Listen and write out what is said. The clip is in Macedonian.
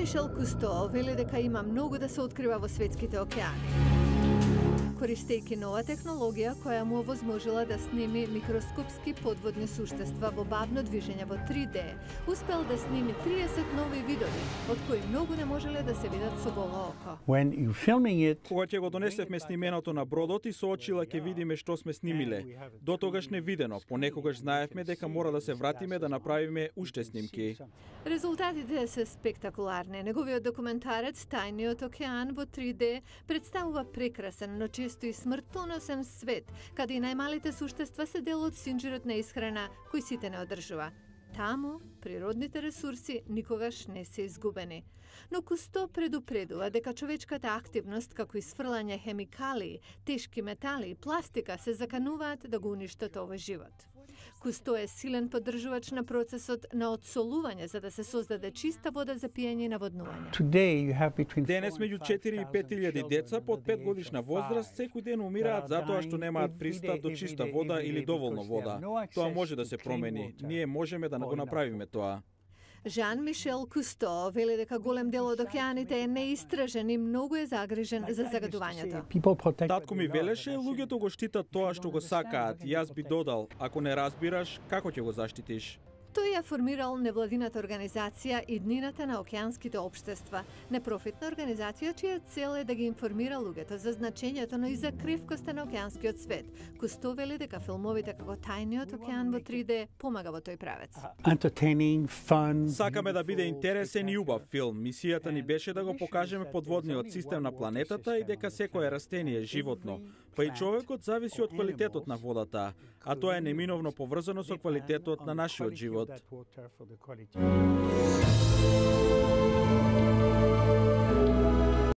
Мишел Кусто вели дека има многу да се открива во светските океани. Користејќи нова технологија која му овозможила да сними микроскопски подводни суштества во бавно движење во 3D, успел да сними 30 нови видови, од кои многу не можеле да се видат со голо око. Кога ќе го донесевме снименото на бродот и со очила ќе видиме што сме снимиле. До тогаш невидено, понекогаш знаевме дека мора да се вратиме да направиме уште снимки. Резултатите се спектакуларни. Неговиот документарец Тајниот океан во 3D представува прекрасен, но често и смртоносен свет, каде и најмалите суштества се дел од синџирот на исхрана кој сите не одржува. Таму, природните ресурси никогаш не се изгубени. Но Кусто предупредува дека човечката активност, како исфрлање хемикалии, тешки метали и пластика се закануваат да го уништат овој живот. Кусто е силен поддржувач на процесот на одсолување за да се создаде чиста вода за пиење и наводнување. Денес меѓу 4 и 5.000 деца под 5 годишна возраст секој ден умираат затоа што немаат пристап до чиста вода или доволно вода. Тоа може да се промени. Ние можеме да го направиме тоа. Жан-Мишел Кусто вели дека голем дел од океаните е неистражен и многу е загрижен за загадувањето. Татко ми велеше, луѓето го штитат тоа што го сакаат. Јас би додал, ако не разбираш, како ќе го заштитиш? Тој ја формирал невладината организација Иднината на океанските општества, непрофитна организација чија цел е да ги информира луѓето за значењето, но и за кривкоста на океанскиот свет. Кусто вели дека филмовите како Тајниот океан во 3D помага во тој правец. Сакаме да биде интересен и убав филм. Мисијата ни беше да го покажеме подводниот систем на планетата и дека секое растение е животно, па и човекот зависи од квалитетот на водата, а тоа е неминовно поврзано со квалитетот на нашиот живот.